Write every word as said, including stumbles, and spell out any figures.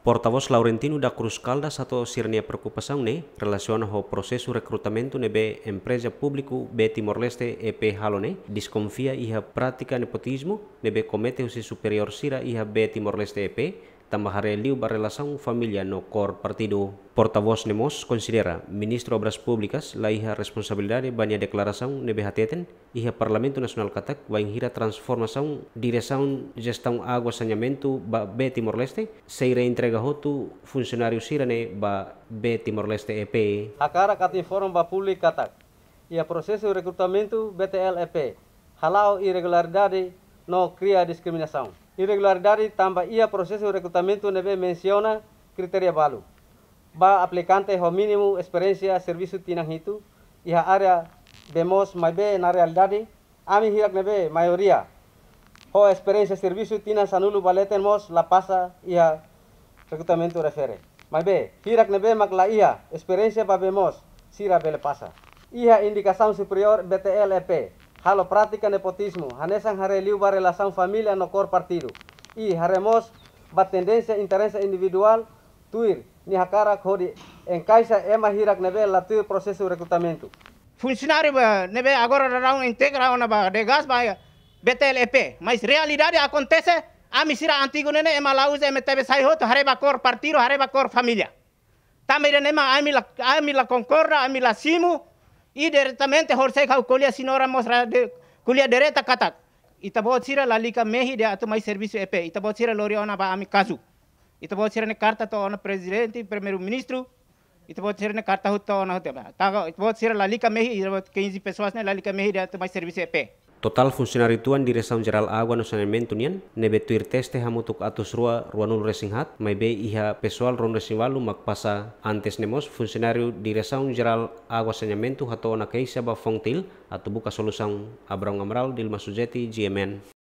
Portavós Laurentino da Cruz Caldas hato'o sira-nia preokupasaun ne'e relasiona ho prosesu rekrutamentu ne'ebé empreza públiku B Timor-Leste E P halo ne'e, deskonfia iha prátika nepotizmu ne'ebé komete husi superiór sira iha B Timor-Leste E P, tanba haree liu ba relasaun família no kór partidu. Portavós ne'e mós konsidera Ministru Obras Públikas la iha responsabilidade ba nia deklarasaun ne'ebé hateten iha Parlamentu Nasionál katak, bainhira transformasaun diresaun jestaun água saneamentu ba B Timor-Leste sei reentrega hotu funsionáriu sira-ne'e ba B Timor-Leste E P. Hakarak atu informa ba públiku katak, iha prosesu rekrutamentu B T L E P hala'o irregularidade no kria diskriminasaun. Irregularidade tanba iha prosesu rekrutamentu ne'ebé mensiona kritéria balu ba aplikante ho mínimu esperiénsia servisu tinan hitu iha área B mós, maibé na realidade ami hirak ne'ebé maioria ho esperiénsia servisu tinan sanulu ba leten mós la pasa iha rekrutamentu refere. Maibé hirak ne'ebé mak la iha esperiénsia ba B mós, sira bele pasa. Iha indikasaun superiór B T L E P halo prátika nepotizmu, hanesan haree liu ba relasaun família no kór partidu. I haree mós ba tendénsia interese individuál tuir nia hakarak hodi enkaixa ema hirak ne'ebé la tuir prosesu rekrutamentu. Funsionáriu ba ne'ebé agora daudaun integra ona ba DGAS ba B T L E P, mas realidade akontese, ami sira antigu ne'e ne'e ema la uza M T V sai hotu, haree ba kór partidu, haree ba kór família. Tanba ida-ne'e mak ami la, ami la konkorda, ami la simu, i diretamente horisehik ha'u ko'alia senhora mostra de, ko'alia direta katak, ita-boot sira lalika mehi ida atu mai servisu E P, ita-boot sira lori ona ba ami kazu. Ita-boot sira-nia karta to'o ona prezidente, primeiru-ministru, ita-boot sira-nia karta hotu to'o ona hotu. Taga, ita-boot sira lalika mehi, ita-boot quinze pessoas ne'e lalika mehi ida atu mai servisu E P. Totál funsionáriu tuan Diresaun Jerál Água no Saneamentu nian ne'ebé tuir teste hamutuk atus rua ruanulu-resin-haat, maibé iha pesoál ruanulu-resin-ualu mak pasa. Antes ne'e mós, funsionáriu Diresaun Jerál Água Saneamentu hato'o ona keixa ba FONGTIL atu buka solusaun. Abrão Amaral, Dilma Sujeti, G M N.